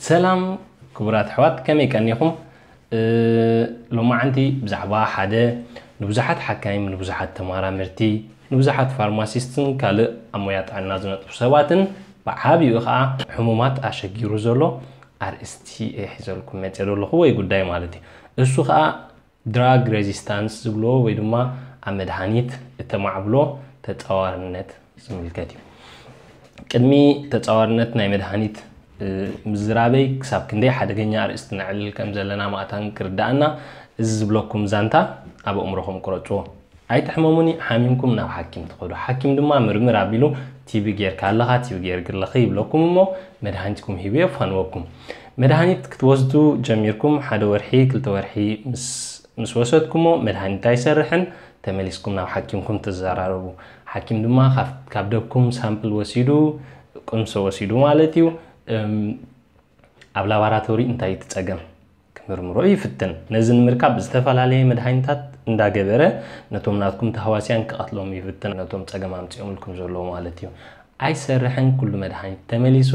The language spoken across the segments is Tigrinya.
ሰላም ክቡራት ኣሕዋት፣ ከመይ ቀኒኹም? እ፣ ሎማዓንቲ ብዛዕባ ሓደ ንብዙሓት ሓካይም፣ ንብዙሓት ተመራመርቲ፣ ንብዙሓት ፋርማሲስትን ካልእ ኣብ ሞያ ጥዕና ዝነጥፉ ሰባትን ብዓቢኡ ኸኣ ሕሙማት ኣሸጊሩ ዘሎ ኣርእስቲ እየ ሒዘልኩም መፅእ ዘለኹ ወይ ጉዳይ ማለት እዩ። እሱ ኸኣ ድራግ ሬዚስታንስ ዝብሎ ወይ ድማ ኣብ መድሃኒት እተማዕብሎ ተጻዋርነት ዝምልከት እዩ። ቅድሚ ተጻዋርነት ናይ መድሃኒት ምዝራበይ ክሳብ ክንደይ ሓደገኛ ኣርእስቲ ነዕልል ከም ዘለና ማእታን ክርዳኣና እዚ ዝብለኩም ዛንታ ኣብ ኣእምሮኹም ቅረጽዎ። ኣይትሕመሙኒ፣ ሓሚምኩም ናብ ሓኪም ትኸዱ። ሓኪም ድማ ምርምር ኣቢሉ ቲቢ ጌርካ ኣለኻ፣ ቲቢ ጌርኪ ኣለኺ ይብለኩም እሞ መድሃኒትኩም ሂቡ የፋንወኩም። መድሃኒት ክትወስዱ ጀሚርኩም ሓደ ወርሒ ክልተ ወርሒ ምስ ምስ ወሰድኩሞ መድሃኒት ኣይሰርሕን፣ ተመሊስኩም ናብ ሓኪምኩም ትዘራረቡ። ሓኪም ድማ ካብ ደብኩም ሳምፕል ወሲዱ፣ ቅምሶ ወሲዱ ማለት እዩ፣ ኣብ ላባራቶሪ እንታይ እቲ ጸገም ክምርምሮ ይፍትን። ነዚ ንምርካብ ዝተፈላለየ መድሃኒታት እንዳገበረ ነቶም ናትኩም ተህዋስያን ክቐትሎም ይፍትን፣ ነቶም ጸገም ኣምጺኦምልኩም ዘለዉ ማለት እዩ። ኣይሰርሕን፣ ኩሉ መድሃኒት ተመሊሱ፣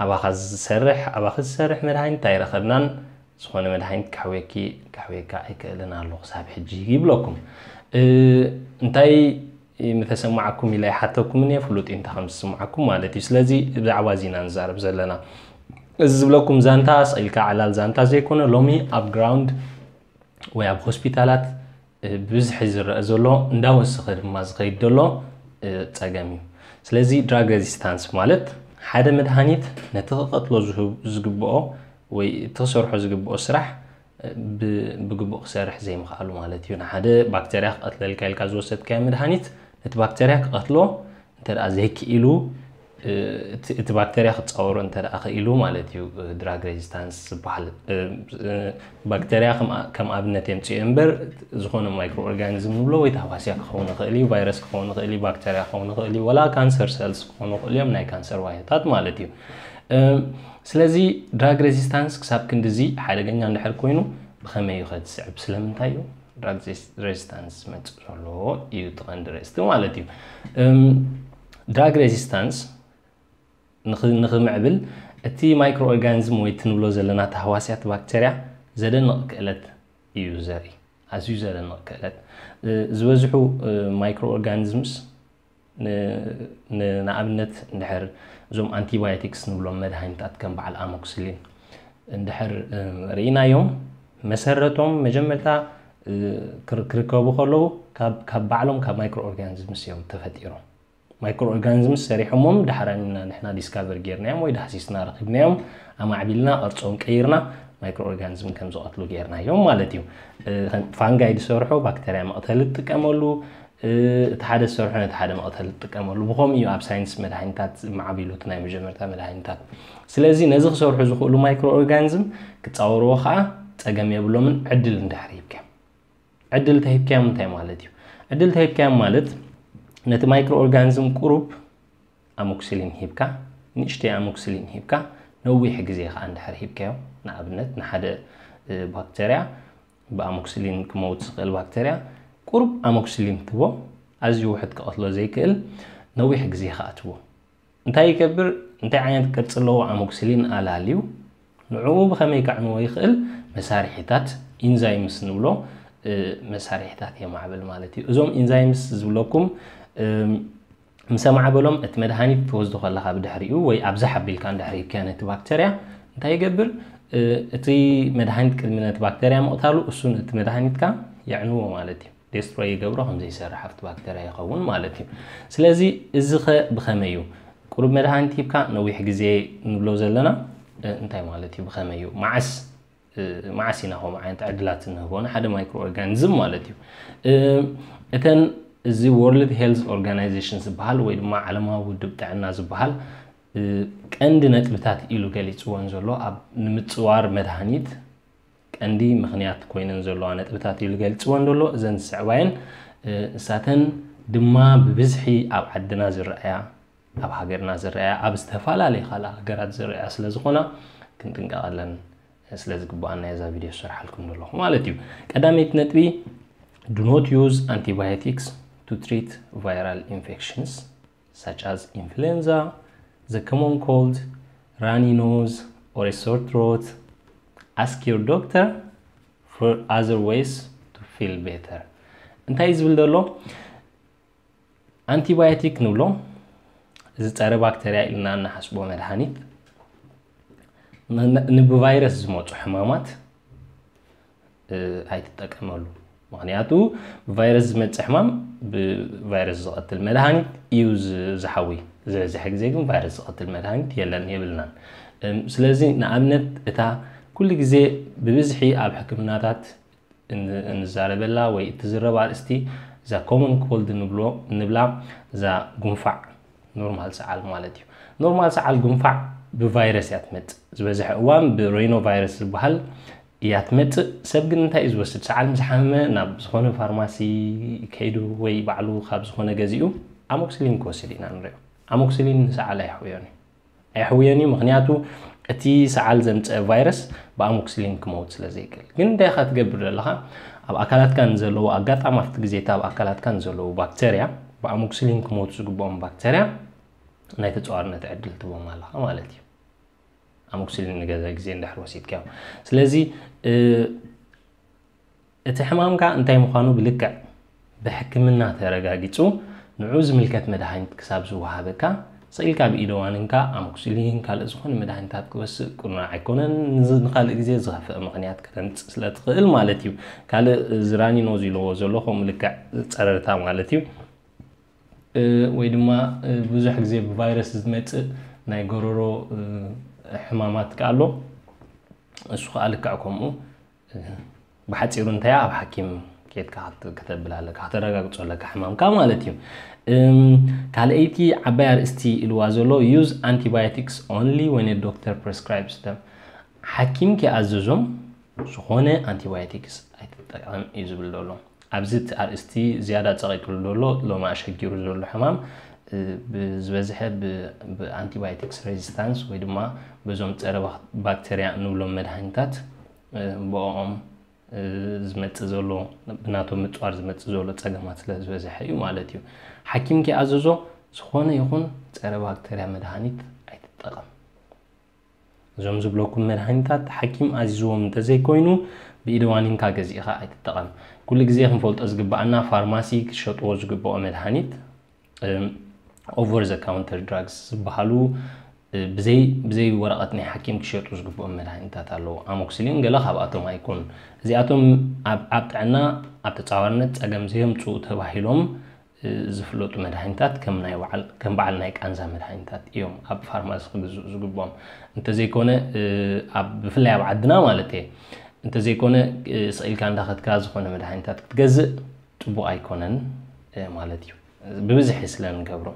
ኣባኻ ዝሰርሕ ኣባኺ ዝሰርሕ መድሃኒት ኣይረኸብናን። ዝኾነ መድሃኒት ከሕውየኪ ከሕውየካ ኣይክእልን ኣሎ ክሳብ ሕጂ ይብለኩም። እንታይ ምተሰማዓኩም ኢለ ይሓተኩም እየ፣ ፍሉጥ እንታይ ከም ዝስማዓኩም ማለት እዩ። ስለዚ ብዛዕባ እዚ ኢና ንዛረብ ዘለና። እዚ ዝብለኩም ዛንታ ስቕ ኢልካ ዕላል ዛንታ ዘይኮነ፣ ሎሚ ኣብ ግራውንድ ወይ ኣብ ሆስፒታላት ብብዝሒ ዝረአ ዘሎ እንዳወሰኸ ድማ ዝኸይድ ዘሎ ጸገም እዩ። ስለዚ ድራግ ሬዚስታንስ ማለት ሓደ መድሃኒት ነቲ ክቐትሎ ዝግብኦ ወይ እቲ ክሰርሖ ዝግብኦ ስራሕ ብግቡእ ክሰርሕ ዘይምኽኣሉ ማለት እዩ። ንሓደ ባክተርያ ክቐትለልካ ኢልካ ዝወሰድካዮ መድሃኒት ነቲ ባክተርያ ክቐትሎ እንተ ደኣ ዘይክኢሉ፣ እቲ ባክተርያ ክጻወሮ እንተ ደኣ ክኢሉ ማለት እዩ፣ ድራግ ሬዚስታንስ ዝበሃል። ባክተርያ ከም ኣብነት የምጽኦ እምበር፣ ዝኾነ ማይክሮ ኦርጋኒዝም ንብሎ ወይ ተህዋስያ ክኸውን ይኽእል እዩ፣ ቫይረስ ክኸውን ይኽእል እዩ፣ ባክተርያ ክኸውን ይኽእል እዩ፣ ወላ ካንሰር ሰልስ ክኾኑ ይኽእሉ እዮም፣ ናይ ካንሰር ዋህዮታት ማለት እዩ። ስለዚ ድራግ ሬዚስታንስ ክሳብ ክንድዚ ሓደገኛ እንድሕር ኮይኑ ብኸመይ እዩ ከ ዝስዕብ? ስለምንታይ እዩ ድራግ ሬዚስታንስ ዝመጽእ ዘሎ እዩ እቲ ቀንዲ ርእስቲ ማለት እዩ። ድራግ ሬዚስታንስ ንኽምዕብል እቲ ማይክሮ ኦርጋኒዝም ወይ ትንብሎ ዘለና ተህዋስያት ባክተርያ ዘደንቕ ክእለት እዩ ዘርኢ፣ ኣዝዩ ዘደንቕ ክእለት። ዝበዝሑ ማይክሮ ኦርጋኒዝምስ ንኣብነት እንድሕር እዞም ኣንቲባዮቲክስ ንብሎም መድሃኒታት ከም በዓል ኣሞክስሊን እንድሕር ርኢናዮም፣ መሰረቶም መጀመርታ ክርከቡ ከለዉ ካብ ባዕሎም ካብ ማይክሮ ኦርጋኒዝምስ እዮም ተፈጢሮም። ማይክሮ ኦርጋኒዝምስ ሰሪሖሞም፣ ዳሕራን ኢና ንሕና ዲስካቨር ጌርናዮም ወይ ዳህሲስና ረኺብናዮም፣ ኣማዕቢልና ቅርጾም ቀይርና ማይክሮ ኦርጋኒዝም ከም ዝቐትሉ ጌርናዮም ማለት እዩ። ፋንጋይ ዝሰርሖ ባክተርያ መቕተሊ ትጥቀመሉ፣ እቲ ሓደ ዝሰርሖ ነቲ ሓደ መቕተሊ ትጥቀመሉ። ብኸምኡ እዩ ኣብ ሳይንስ መድሃኒታት ዝማዕቢሉ፣ እቲ ናይ መጀመርታ መድሃኒታት። ስለዚ ነዚ ክሰርሑ ዝኽእሉ ማይክሮ ኦርጋኒዝም ክጻወርዎ ኸኣ ጸገም የብሎምን፣ ዕድል እንድሕር ሂብካዮም። ዕድል ተሂብካዮም እንታይ ማለት እዩ? ዕድል ተሂብካዮም ማለት ነቲ ማይክሮ ኦርጋኒዝም ቁሩብ ኣሞክሲሊን ሂብካ፣ ንእሽተይ ኣሞክሲሊን ሂብካ፣ ነዊሕ ግዜ ኸኣ እንድሕር ሂብካዮ፣ ንኣብነት ንሓደ ባክተርያ ብኣሞክሲሊን ክመውት ዝኽእል ባክተርያ ቁሩብ ኣሞክሲሊን ትቦ፣ ኣዝዩ ውሕድ ክቐትሎ ዘይክእል ነዊሕ ግዜ ኸኣ ትቦ። እንታይ ይገብር? እንታይ ዓይነት ቅርጺ ኣለዎ ኣሞክሲሊን ኣላልዩ ንዕኡ ብኸመይ ከዕንዎ ይኽእል? መሳርሒታት ኢንዛይምስ ንብሎ መሳርሒታት የማዕብል ማለት እዩ። እዞም ኢንዛይምስ ዝብለኩም ምስ ኣማዕበሎም እቲ መድሃኒት ትወስዶ ከለኻ ብድሕሪኡ ወይ ኣብዛ ሓቢልካ እንድሕር ሂብካዮ ነቲ ባክተርያ እንታይ ይገብር? እቲ መድሃኒት ቅድሚ ነቲ ባክተርያ ምቕታሉ እሱ ነቲ መድሃኒትካ የዕንዎ ማለት እዩ። ዴስትሮይ ይገብሮ ከም ዘይሰርሕ ኣብቲ ባክተርያ ይኸውን ማለት እዩ። ስለዚ እዚ ኸ ብኸመይ እዩ? ቁሩብ መድሃኒት ሂብካ ነዊሕ ግዜ ንብሎ ዘለና እንታይ ማለት እዩ? ብኸመይ እዩ? መዓስ መዓስ ኢና ከምኡ ዓይነት ዕድላት እንህቦ ንሓደ ማይክሮ ኦርጋኒዝም ማለት እዩ። እተን እዚ ወርልድ ሄልዝ ኦርጋናይዜሽን ዝበሃል ወይ ድማ ዓለማዊ ውድብ ጥዕና ዝበሃል ቀንዲ ነጥብታት ኢሉ ገሊፅወን ዘሎ ኣብ ንምፅዋር መድሃኒት ቀንዲ ምኽንያት ኮይነን ዘለዋ ነጥብታት ኢሉ ገሊፅወን ዘሎ እዘን ዝስዕባየን ንሳተን ድማ ብብዝሒ ኣብ ዓድና ዝረኣያ ኣብ ሃገርና ዝረኣያ ኣብ ዝተፈላለየ ካልእ ሃገራት ዝረኣያ ስለ ዝኾና ክንጥንቀቐለን ስለ ዝግባኣና እዛ ቪድዮ ዝሰርሓልኩም ዘለኹ ማለት እዩ። ቀዳመይቲ ነጥቢ do not use antibiotics to treat viral infections such as influenza, the common cold, runny nose, or a sore throat, ask your doctor for other ways to feel better. እንታይ እዩ ዝብል ዘሎ? ኣንቲባዮቲክ ንብሎ፣ እዚ ጸረ ባክተርያ ኢልና እንሓስቦ መድሃኒት፣ ን- ን- ንብቫይረስ ዝመጹ ሕማማት እ፣ ኣይትጠቀመሉ። ምክንያቱ ብቫይረስ ዝመጽእ ሕማም ብቫይረስ ዝቐትል መድሃኒት እዩ ዝ- ዝሓዊ። ዝበዝሐ ግዜ ግን ቫይረስ ዝቐትል መድሃኒት የለን፣ የብልናን። እም፣ ስለዚ ንኣብነት እታ ኩሉ ግዜ ብብዝሒ ኣብ ሕክምናታት ን- እንዛረበላ ወይ እትዝረብ ኣርእስቲ እዛ ኮመን ኮልድ ንብሎ ንብላ፣ እዛ ጉንፋዕ፣ ኖርማል ሰዓል ማለት እዩ። ኖርማል ሰዓል ጉንፋዕ ብቫይረስ እያ ትመጽእ። ዝበዝሐ እዋን ብሬኖ ቫይረስ ዝበሃል እያ ትመጽእ። ሰብ ግን እንታይ እዩ ዝወስድ? ሰዓል ምስ ሓመመ ናብ ዝኾነ ፋርማሲ ከይዱ ወይ ባዕሉ ካብ ዝኾነ ገዚኡ ኣሞክሲሊን ክወስድ ኢና ንሪኦ። ኣሞክሲሊን ንሰዓል ኣይሕውዮን እዩ። ኣይሕውዮን እዩ፣ ምክንያቱ እቲ ሰዓል ዘምፀ ቫይረስ ብኣሞክሲሊን ክመውት ስለ ዘይክእል። ግን እንታይ ኢኻ ትገብር ዘለኻ? ኣብ ኣካላትካ ንዘለዉ ኣጋጣሚ ኣብቲ ግዜታ ኣብ ኣካላትካ ንዘለዉ ባክተርያ፣ ብኣሞክሲሊን ክመውቱ ዝግብኦም ባክተርያ ናይ ተፃዋርነት ዕድል ትቦም ኣለኻ ማለት እዩ። ኣሞክሲሊን ንገለ ግዜ እንድሕር ወሲድካዮ። ስለዚ እ፣ እቲ ሕማምካ እንታይ ምዃኑ ብልክዕ ብሕክምና ተረጋጊጹ ንዑ ዝምልከት መድሃኒት ክሳብ ዝወሃበካ፣ ስኢልካ ብኢደዋንንካ ኣሞክሲሊን ካልእ ዝኾነ መድሃኒታት ክወስእ ቅኑዕ ኣይኮነን። ንዝ- ንኻልእ ግዜ ዝኸፍአ ምኽንያት ከተምጽእ ስለ ትኽእል ማለት እዩ። ካልእ ዝራኒኖ ዝብልዎ ዘሎ ከምኡ ልክዕ ጸረርታ ማለት እዩ። እ፣ ወይ ድማ እ፣ ብዙሕ ግዜ ብቫይረስ ዝመጽእ ናይ ጎረሮ እ፣ ሕማማት ከኣ ኣሎ። እሱ ከኣ ልክዕ ከምኡ እ፣ ብሓጺሩ እንታይ ኣብ ሓኪም ኬድካ ክት- ክተብል ኣለካ፣ ከተረጋግጾ ኣለካ ሕማምካ ማለት እዩ። እም፣ ካልኣይቲ ዓባይ ኣርእስቲ ኢልዋ ዘሎ use antibiotics only when a doctor prescribes them። ሓኪም ከይኣዘዞም ዝኾነ ኣንቲባዮቲክስ ኣይትጠቀም እዩ ዝብል ዘሎ። ኣብዚ እቲ ኣርእስቲ ዝያዳ ጸቒጥሉ ዘሎ ሎሚ ኣሸጊሩ ዘሎ ሕማም እ፣ ብዝበዝሐ ብ- ብኣንቲባዮቲክስ ሬዚስታንስ ወይ ድማ በዞም ጸረ ባክ- ባክተርያ እንብሎም መድሃኒታት እ፣ ብኦም እ፣ ዝመጽእ ዘሎ ብናቶም ምጽዋር ዝመጽእ ዘሎ ጸገማት ስለ ዝበዝሐ እዩ ማለት እዩ። ሓኪም ከይኣዘዞ ዝኾነ ይኹን ጸረ ባክተርያ መድሃኒት ኣይትጠቐም። እዞም ዝብለኩም መድሃኒታት ሓኪም ኣዚዝዎም እንተዘይኮይኑ ብኢደዋኒንካ ገዚእኻ ኣይትጠቐም። ኩሉ ግዜ ክንፈልጦ ዝግብኣና ፋርማሲ ክሸጥዎ ዝግብኦ መድሃኒት ኦቨር ዘ ካውንተር ድራግስ ዝበሃሉ እ፣ ብዘይ ብዘይ ወረቐት ናይ ሓኪም ክሸጡ ዝግብኦም መድሃኒታት ኣለዉ። ኣሞክሲሊን ገለ ካብኣቶም ኣይኮኑን። እዚኣቶም ኣብ ኣብ ጥዕና ኣብ ተጻዋርነት ጸገም ዘየምጽኡ ተባሂሎም እ፣ ዝፍለጡ መድሃኒታት ከም ናይ በዓል ከም በዓል ናይ ቃንዛ መድሃኒታት እዮም ኣብ ፋርማሲ ክግዝኡ ዝግብኦም። እንተዘይኮነ እ፣ ኣብ ብፍላይ ኣብ ዓድና ማለት እየ እንተዘይኮነ እ፣ ስቕ ኢልካ እንዳኸድካ ዝኾነ መድሃኒታት ክትገዝእ ጽቡቕ ኣይኮነን እ፣ ማለት እዩ። ብብዝሒ ስለ ንገብሮ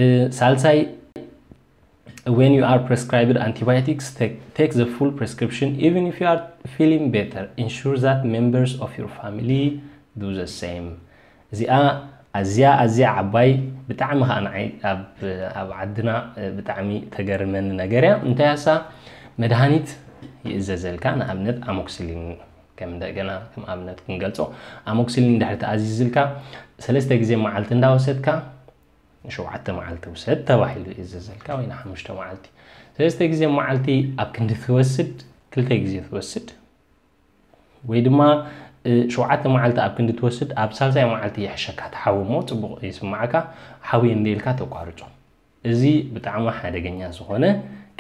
እ፣ ሳልሳይ when you are prescribed antibiotics, take, take the full prescription. Even if you are feeling better, ensure that members of your family do the same. እዚኣ ኣዝያ ኣዝያ ዓባይ ብጣዕሚ ከዓ ንዓይ ኣብ ኣብ ዓድና ብጣዕሚ ተገርመኒ ነገር እያ። እንታይ እያ እሳ? መድሃኒት ይእዘዘልካ፣ ንኣብነት ኣሞክሲሊን ከም እንደገና ከም ኣብነት ክንገልጾ ኣሞክሲሊን እንድሕር ተኣዚዝልካ ሰለስተ ግዜ መዓልቲ እንዳወሰድካ ንሸውዓተ መዓልቲ ውሰድ ተባሂሉ ይእዘዘልካ፣ ወይ ንሓሙሽተ መዓልቲ። ሰለስተ ግዜ መዓልቲ ኣብ ክንዲ ትወስድ ክልተ ግዜ ትወስድ፣ ወይ ድማ እ፣ ሸውዓተ መዓልቲ ኣብ ክንዲ ትወስድ ኣብ ሳልሳይ መዓልቲ ይሕሸካ፣ ትሓዊ እሞ ጽቡቕ ይስማዓካ፣ ሓዊ እንደ ኢልካ ተቋርጾ። እዚ ብጣዕሚ ሓደገኛ ዝኾነ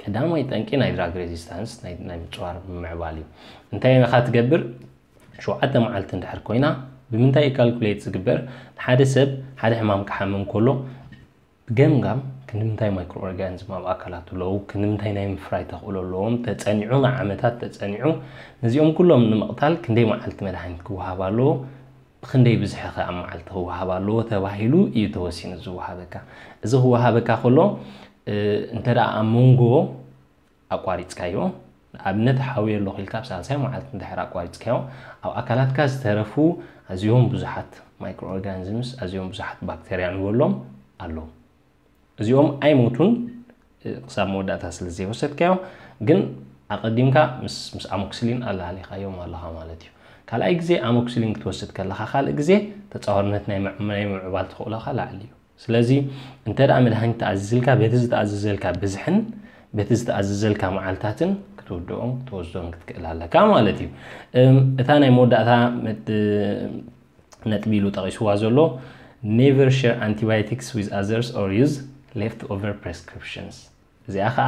ቀዳማይ ጠንቂ ናይ ድራግ ሬዚስታንስ ናይ ናይ ምጽዋር ምምዕባል እዩ። እንታይ ኢኻ ትገብር? ሸውዓተ መዓልቲ እንድሕር ኮይና ብምንታይ እዩ ካልኩሌት ዝግበር? ሓደ ሰብ ሓደ ሕማም ክሓምም ከሎ ብገምጋም ክንዲ ምንታይ ማይክሮ ኦርጋኒዝም ኣብ ኣካላቱ ኣለዉ፣ ክንዲ ምንታይ ናይ ምፍራይ ተኽእሎ ኣለዎም፣ ተጸኒዑ ንዓመታት ተጸኒዑ ነዚኦም ኩሎም ንምቕታል ክንደይ መዓልቲ መድሃኒት ክወሃብ ኣለዎ፣ ብኽንደይ ብዝሒ ከ ኣብ መዓልቲ ክወሃብ ኣለዎ ተባሂሉ እዩ ተወሲኑ ዝወሃበካ። እዚ ክወሃበካ ከሎ እ፣ እንተ ደኣ ኣብ መንጎ ኣቋሪጽካዮ፣ ንኣብነት ሓውየ ኣለኹ ኢልካ ኣብ ሳልሳይ መዓልቲ እንድሕር ኣቋሪጽካዮ፣ ኣብ ኣካላትካ ዝተረፉ ኣዝዮም ብዙሓት ማይክሮ ኦርጋኒዝምስ ኣዝዮም ብዙሓት ባክተርያ ንበሎም ኣለዉ። እዚኦም ኣይሞቱን እ፣ ክሳብ መወዳእታ ስለ ዘይወሰድካዮ፣ ግን ኣቐዲምካ ምስ ምስ ኣሞክሲሊን ኣላሊኻዮም ኣለኻ ማለት እዩ። ካልኣይ ግዜ ኣሞክሲሊን ክትወስድ ከለኻ ካልእ ግዜ ተጻዋርነት ናይ ምዕ- ናይ ምምዕባል ተኽእሎኻ ላዕሊ እዩ። ስለዚ እንተ ደኣ መድሃኒት ተኣዚዝልካ በቲ ዝተኣዘዘልካ ብዝሕን በቲ ዝተኣዘዘልካ መዓልታትን ክትውድኦን ክትወስዶን ክትክእል ኣለካ ማለት እዩ። እታ ናይ መወዳእታ ነጥቢ ኢሉ ጠቒስዋ ዘሎ never share antibiotics with others or use leftover prescriptions። እዚኣ ከዓ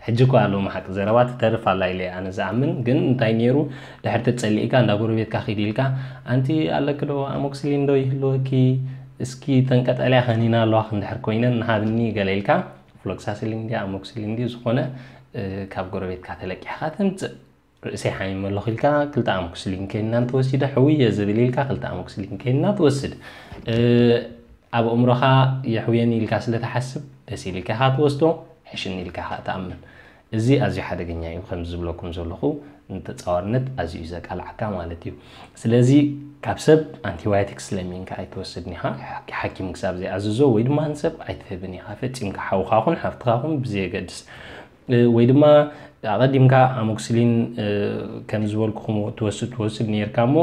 ሕጂ እኳ ኣለዎም ሓቂ ዘረባ ትተርፍ ኣላ ኢለ ኣነ ዝኣምን። ግን እንታይ ነይሩ፣ ድሕር ተጸሊእካ እንዳ ጎረቤትካ ኪድ ኢልካ፣ ኣንቲ ኣለኪ ዶ ኣሞክስሊን ዶ ይህልወኪ፣ እስኪ ተንቀጠልያ ከኒና ኣለዋ ክንድሕር ኮይነን ንሃብኒ ገለ ኢልካ፣ ፍሎክሳሲሊን ድያ ኣሞክስሊን ድዩ ዝኾነ ካብ ጎረቤትካ ተለቂሕካ ትምፅእ። ርእሰይ ሓሚመ ኣለኹ ኢልካ ክልተ ኣሞክስሊን ከይንና እንተወሲደ ሕውየ ዝብል ኢልካ ክልተ ኣሞክስሊን ከይንና ትወስድ። ኣብ ኣእምሮኻ የሕውየኒ ኢልካ ስለ ትሓስብ ደስ ኢልካ ኢኻ ትወስዶ፣ ሕሽኒ ኢልካ ኢኻ ትኣምን። እዚ ኣዝዩ ሓደገኛ እዩ። ከም ዝብለኩም ዘለኹ ንተጻዋርነት ኣዝዩ እዩ ዘቃልዓካ ማለት እዩ። ስለዚ ካብ ሰብ ኣንቲባዮቲክስ ለሚንካ ኣይትወስድን ኢኻ፣ ሓኪም ክሳብ ዘይኣዝዞ ወይ ድማ ንሰብ ኣይትህብን ኢኻ። ፈጺምካ ሓውኻ ኹን ሓፍትኻ ኹን ብዘየገድስ ወይ ድማ ኣቐዲምካ ኣሞክስሊን ከም ዝበልኩኹም ትወስድ ትወስድ ነርካ እሞ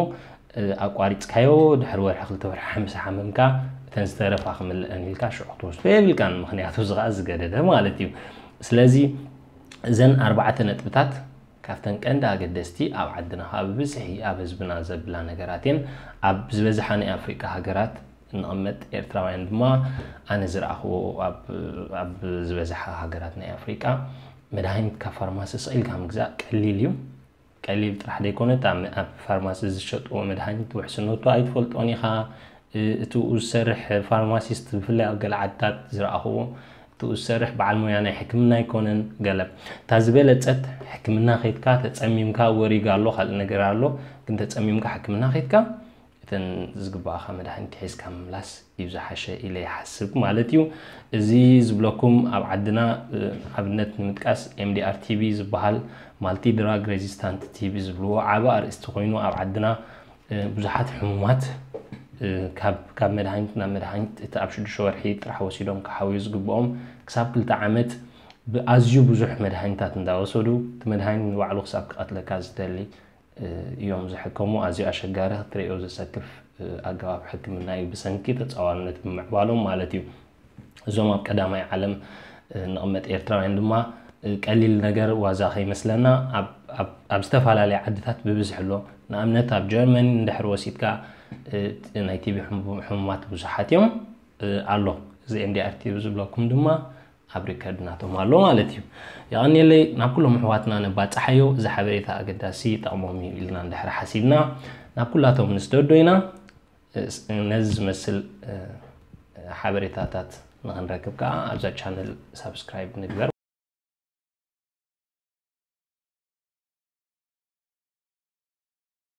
ኣቋሪፅካዮ ድሕሪ ወርሒ ክልተ ወርሒ ሓምሳ ሓመምካ እተን ዝተረፋ ክምልአን ኢልካ ሽዑ ክትወስዶ የብልካን። ምክንያቱ እዚ ከዓ ዝገደደ ማለት እዩ። ስለዚ እዘን ኣርባዕተ ነጥብታት ካብተን ቀንዲ ኣገደስቲ ኣብ ዓድና ከዓ ብብዝሒ ኣብ ህዝብና ዘብላ ነገራት እየን። ኣብ ዝበዝሓ ናይ ኣፍሪቃ ሃገራት እንቕመጥ ኤርትራውያን ድማ ኣነ ዝረኣኽዎ ኣብ ዝበዝሓ ሃገራት ናይ ኣፍሪቃ መድሃኒት ካብ ፋርማሲ ስቕ ኢልካ ምግዛእ ቀሊል እዩ። ቀሊል ጥራሕ ዘይኮነ ኣብ ፋርማሲ ዝሸጥዎ መድሃኒት ውሕስነቱ ኣይትፈልጦን ኢኻ። እቲኡ ዝሰርሕ ፋርማሲስት ብፍላይ ኣብ ገለ ዓድታት ዝረኣኽዎ እቲኡ ዝሰርሕ በዓል ሞያ ናይ ሕክምና ኣይኮነን። ገለ እታ ዝበለጸት ሕክምና ከይድካ ተጸሚምካ ወሪጋ ኣሎ ካልእ ነገር ኣሎ ግን ተጸሚምካ ሕክምና ከይድካ እተን ዝግባእኻ መድሃኒት ሒዝካ ምምላስ እዩ ዝሓሸ ኢለ ይሓስብ ማለት እዩ። እዚ ዝብለኩም ኣብ ዓድና ኣብነት ንምጥቃስ ኤምዲኣር ቲቢ ዝበሃል ማልቲ ድራግ ሬዚስታንት ቲቢ ዝብልዎ ዓቢ ኣርእስቲ ኮይኑ ኣብ ዓድና ብዙሓት ሕሙማት ካብ መድሃኒት ናብ መድሃኒት እቲ ኣብ ሽዱሽተ ወርሒ ጥራሕ ወሲዶም ክሓውዩ ዝግብኦም ክሳብ ክልተ ዓመት ብኣዝዩ ብዙሕ መድሃኒታት እንዳወሰዱ እቲ መድሃኒት ንባዕሉ ክሳብ ክቐትለካ ዝደሊ እዮም ዝሕከሙ። ኣዝዩ ኣሸጋሪ ክትሪኦ ዘሰክፍ ኣገባብ ሕክምና እዩ ብሰንኪ ተፃዋርነት ብምዕባሎም ማለት እዩ። እዞም ኣብ ቀዳማይ ዓለም ንቕመጥ ኤርትራውያን ድማ ቀሊል ነገር ዋዛ ከይመስለና ኣብ ዝተፈላለያ ዓድታት ብብዝሒ ኣሎ። ንኣብነት ኣብ ጀርመኒ እንድሕር ወሲድካ ናይ ቲቢ ሕሙማት ብዙሓት እዮም ኣሎ። እዚ ኤምዲኣር ቲቢ ዝብለኩም ድማ ኣብ ሪከርድ ናቶም ኣሎ ማለት እዩ። የቐንየለይ ናብ ኩሎም ኣሕዋትና ነባፅሓዮ። እዚ ሓበሬታ ኣገዳሲ ይጠቕሞም እዩ ኢልና እንድሕር ሓሲብና ናብ ኩላቶም ንስደዶ ኢና። ነዚ ዝመስል ሓበሬታታት ንክንረክብ ከዓ ኣብዛ ቻነል ሳብስክራይብ ንግበር።